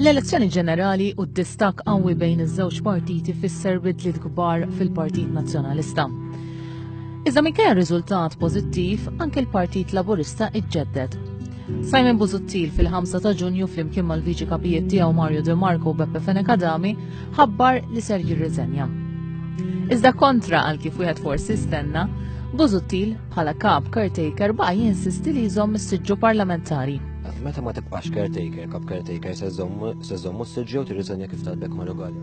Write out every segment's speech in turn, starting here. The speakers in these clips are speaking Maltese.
L-elezzjoni ġenerali u d-distakk qawwi bejn iż-żewġ partiti fisser bidliet kbar fil-Partit Nazzjonalista. Iżda minkejja riżultat pożittiv, anke l-Partit Laburista iġġedded. Simon Busuttil fil-5 ta' Ġunju flimkien mal-Viċi Kapijiet tiegħu Mario De Marco u Beppe Fenech Adami ħabbar li ser jirriżenja. Iżda kontra għal kif wieħed forsi stenna, Busuttil bħala kap caretaker baqa' jinsisti li jżomm is-siġġu parlamentari. Meta ma tibqax caretaker, kap caretaker se żommu s-siġġu jew tirriżenja kif talbek Mario Gallia.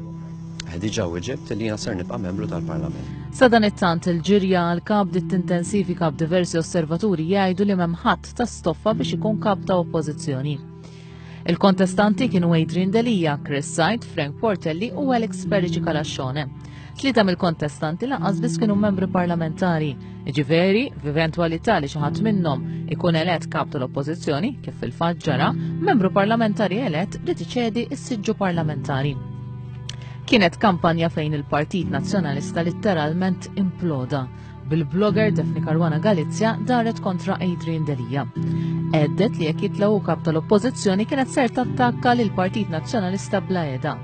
Diġà weġibt li jiena ser nibqa' membru tal-Parlament. Sadanittant il-ġirja għal kap bdiet tintensifika b'diversi osservaturi jgħidu li m'hemm ħadd ta' stoffa biex ikun kap ta' oppożizzjoni. Il-kontestanti kienu Adrian Delia, Chris Said, Frank Portelli u Alex Perici Calascione. Tlieta mill-kontestanti lanqas biss kienu membri parlamentari. Ġifieri, f'eventwalità li xi ħadd minnhom ikun elett kap tal-Oppożizzjoni, kif fil-fatt ġara, membru parlamentari elett li tiċedi s-siġġu parlamentari. Kienet kampanja fejn il-Partit Nazzjonalista litteralment imploda bil-blogger Daphne Caruana Galizia daret kontra Adrian Delia. Għeddet li jekk jitlgħu kap tal-Oppożizzjoni kienet ser tattakka lil Partit Nazzjonalista bla eda.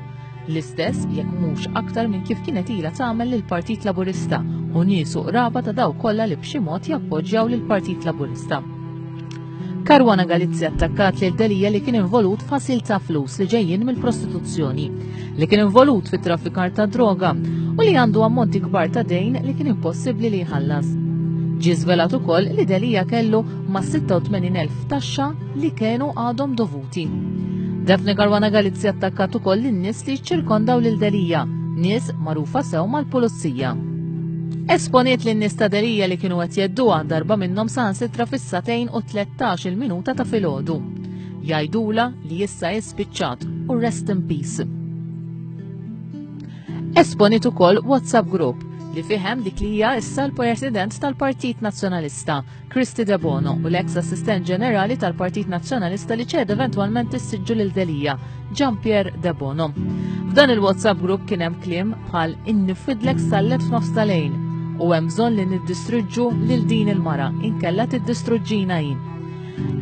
L-istess jekk mhux aktar minn kif kienet ilha tagħmel lill-Partit Laburista u nies u qraba ta' dawk kollha li b'xi mod jappoġġjaw lill-Partit Laburista. Caruana Galizia attakkat lil Delia li kien involut f'ħasil ta' flus li ġejjin mill-prostituzzjoni, li kien involut fit-traffikar ta' droga u li għandu ammonti kbar ta' dejn li kien impossibbli li jħallas. Ġie żvelat ukoll li Delia kellu ma' 86,000 taxxa li kienu għadhom dovuti. Daphne Caruana Galizia attakkat ukoll lin-nies li ċċirkondaw lil Delia, nies magħrufa sew mal-pulizija. Esponiet lin-nies ta' Delia li kienu qed jedduha darba minnhom saħansitra fis-sagħtejn u 13 il-minuta ta' filgħodu. Jgħidula li issa hi spiċċat u rest in peace. Esponiet ukoll WhatsApp group li fih hemm dik li hija issa l-President tal-Partit Nazzjonalista, Kristy Debono, u l-eks Assistent Ġenerali tal-Partit Nazzjonalista li ċeda eventwalment is-siġġu lil Delia, Jean Pierre Debono. F'dan il-WhatsApp group kien hemm kliem bħal innifidlek sallet f'nofs tal-lejl u hemm bżonn li niddistruġġu lil din il-mara inkella tiddistruġġina jien.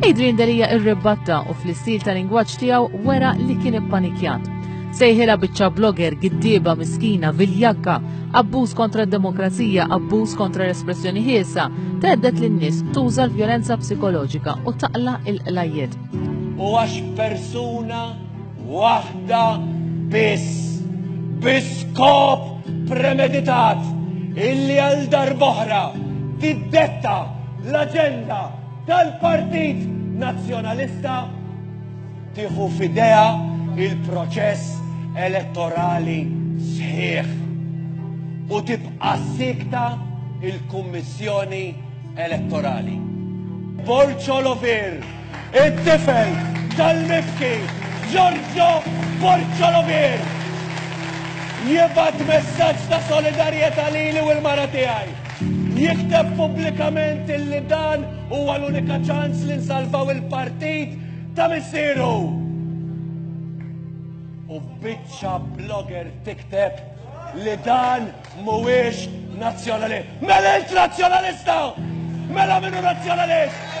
Adrian Delia irribatta u fl-istil ta' lingwaġġ tiegħu wera li kien ippanikjat. Sejħilha biċċa blogger, giddieba, miskina, viljakka, abbuż kontra d-demokrazija, abbuż kontra l-espressjoni ħielsa, thedded lin-nies tuża l-vjolenza psikoloġika u taqla' il-qlajjiet. U għax persuna waħda biss, bi skop premeditat, illi għal darb'oħra tiddetta l-aġenda tal-Partit Nazzjonalista tieħu f'idejha il-proċess elettorali sħiħ u tibqa' siekta il-Kummissjoni Elettorali. Borg Olovir, it-tifel tal-mibki Giorgio Borg Olovir, jibgħat messaġġ ta' solidarjetà lili u l-mara tiegħi. Jikteb pubblikament illi dan huwa l-unika ċans li nsalvaw il-partit ta' missieru. U biċċa blogger tikteb li dan mhuwiex nazzjonalist. Mela int nazzjonalista! Mela minnu nazzjonalist!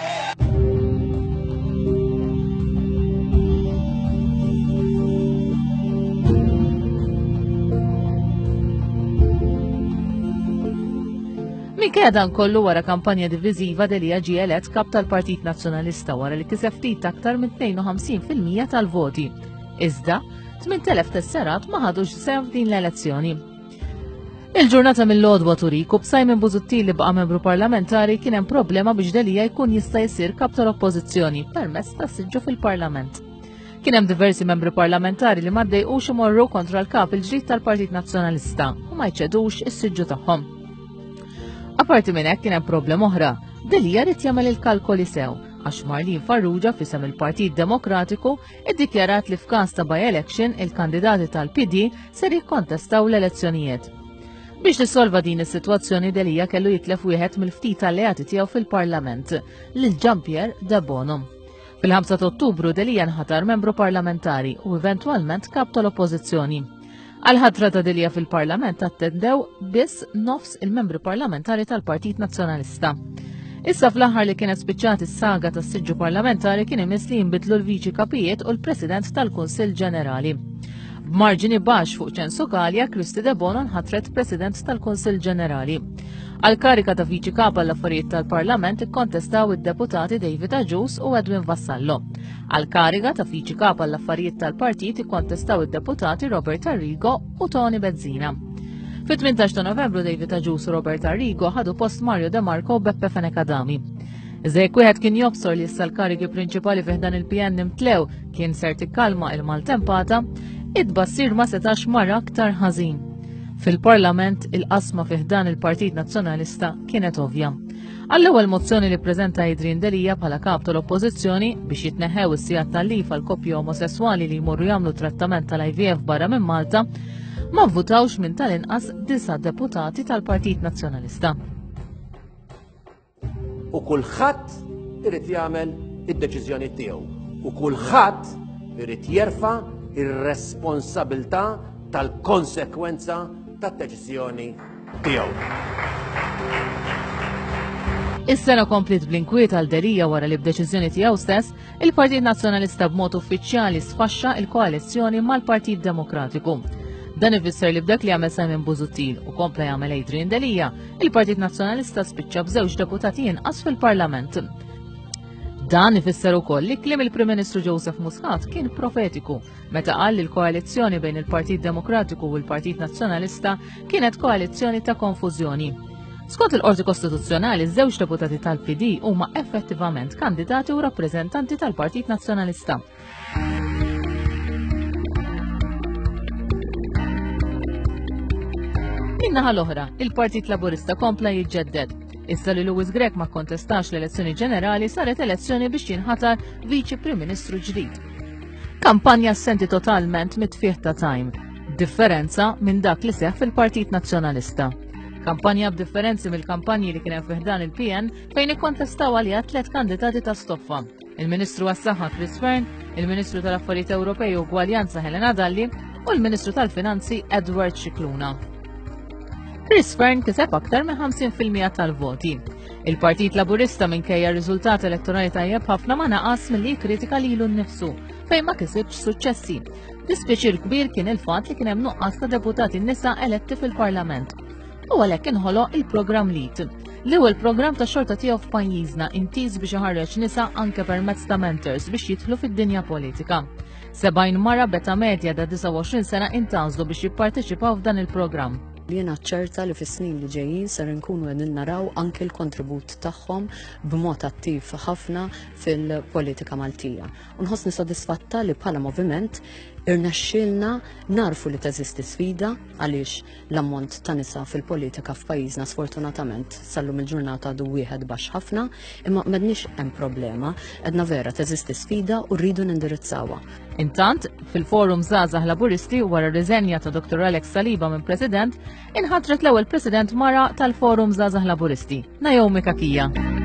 Minkejja dan kollu wara kampanja diviżiva Delia ġie elett kap tal-Partit Nazzjonalista wara li kiseb ftit aktar minn 52% tal-voti. Iżda, 8,000 tesserat ma ħadux sehem f'din l-elezzjoni. Il-ġurnata mill-għodwa turik u b'Simon Busuttil li baqa' membru parlamentari kien hemm problema biex Delia jkun jista' jsir kap tal-Oppożizzjoni permezz ta' siġġu fil-Parlament. Kien hemm diversi membri parlamentari li ma ddejqux imorru kontra l-kap il-ġdid tal-Partit Nazzjonalista u ma jċedux is-siġġu tagħhom. Aparti minn hekk kien hemm problema oħra. Delia rid jagħmel il-kalkoli sew għax Marlene Farrugia fisem il-Partit Demokratiku iddikjarat li f'każ ta' by-election il-kandidati tal-PD ser jikkontestaw l-elezzjonijiet. Biex tissolva din is-sitwazzjoni Delia kellu jitlef wieħed mill-ftit alleati tiegħu fil-Parlament, lil Jean-Pierre Debono. Fil-5 ta' Ottubru Delia nħatar membru parlamentari u eventwalment kap tal-Oppożizzjoni. Għal-ħatra ta' Delia fil-Parlament attendew biss nofs il-membri parlamentari tal-Partit Nazzjonalista. Issa fl-aħħar li kienet spiċċat is-saga tas-siġġu parlamentari kien imiss li jinbidlu l-Viċi Kapijiet u l-President tal-Kunsill Ġenerali. B'marġini baxx fuq Ċensu Galea, Kristy Debono nħatret President tal-Kunsill Ġenerali. Għall-kariga ta' Viċi Kap għall-Affarijiet tal-Parlament ikkontestaw id-deputati David Agius u Edwin Vassallo. Għall-kariga ta' Viċi Kap għall-Affarijiet tal-Partit ikkontestaw id-deputati Robert Arrigo u Toni Bezzina. Fit-18 ta' Novembru David Agius u Robert Arrigo ħadu post Mario De Marco u Beppe Fenech Adami. Iżda jekk wieħed kien jobsor li issa l-karigi prinċipali fi ħdan il-PN imtlew kien ser tikkalma il-maltempata, it-tbassir ma setax mar aktar ħażin. Fil-Parlament il-qasma fi ħdan il-Partit Nazzjonalista kienet ovvja. Għall-ewwel mozzjoni li ppreżenta Adrian Delia bħala kap tal-Oppożizzjoni biex jitneħħew is-sigħat tal-lif għal koppji omosesswali li jmorru jagħmlu trattament tal-IVF barra minn Malta, ma vvutawx minn tal-inqas disa' deputati tal-Partit Nazzjonalista. U kulħadd irid jagħmel id-deċiżjoni tiegħu u kulħadd irid jerfa' ir-responsabilità tal-konsekwenza tad-deċiżjoni tiegħu. Is-sena kompliet bl-inkwiet għal Delia wara li b'deċiżjoni tiegħu stess, il-Partit Nazzjonalista b'mod uffiċjali sfaxxa il-koalizzjoni mal-Partit Demokratiku. Dan ifisser li b'dak li għamel Simon Busuttil u kompla jagħmel Adrian Delia, il-Partit Nazzjonalista spiċċa b'żewġ deputati inqas fil-Parlament. Dan ifisser ukoll li kliem il-Prim Ministru Joseph Muscat kien profetiku meta qal li l-koalizzjoni bejn il-Partit Demokratiku u l-Partit Nazzjonalista kienet koalizzjoni ta' konfużjoni. Skont il-Qorti Kostituzzjonali, żewġ deputati tal-PD huma effettivament kandidati u rappreżentanti tal-Partit Nazzjonalista. Min-naħa l-oħra, il-Partit Laburista kompla jiġġedded. Issa li Louis Grech ma kontestax l-elezzjoni ġenerali saret elezzjoni biex jinħatar Viċi Prim Ministru ġdid. Kampanja assenti totalment mit-tfieħ ta' Time. Differenza minn dak li seħ fil-Partit Nazzjonalista. Kampanja b'differenzi mill-kampanji li kien hemm fi ħdan il-PN fejn ikkontestaw għaliha tliet kandidati ta' stoffa. Il-Ministru għas-Saħħa Chris Fearne, il-Ministru tal-Affarijiet Ewropej u Ugwaljanza Helena Dalli u l-Ministru tal-Finanzi Edward Scicluna. Chris Fearne kiseb aktar minn 50% tal-voti. Il-Partit Laburista minkejja r-riżultat elettorali tajjeb ħafna ma naqas milli jikkritika lilu nnifsu fejn ma kisibx suċċessi. Dispjaċir kbir kien il-fatt li kien hemm nuqqas ta' deputati nisa eletti fil-Parlament. U għalhekk inħoloq il-programm LEAD. L-ewwel programm ta' xorta tiegħu f'pajjiżna intiż biex iħarreġ nisa anke permezz ta' mentors biex jidħlu fid-dinja politika. 70 mara b'età medja ta' 29 sena intgħażlu biex jipparteċipaw f'dan il-programm. Jiena ċerta li fis-snin li ġejjin ser inkunu qegħdin naraw anke l-kontribut tagħhom b'mod attiv ħafna fil-politika Maltija. U nħossni sodisfatta li bħala moviment irnexxielna narfu li teżisti sfida għaliex l-ammont ta' nisa fil-politika f'pajjiżna sfortunatament sal-lum il-ġurnata għadu wieħed baxx ħafna, imma m'għedniex hemm problema, għedna vera teżisti sfida u rridu nindirizzawha. Intant, fil-Forum Żgħażagħ Laburisti wara r-riżenja ta' Dr. Alex Saliba minn President, inħatret l-ewwel President mara tal-Forum Żgħażagħ Laburisti, Naomi Cachia.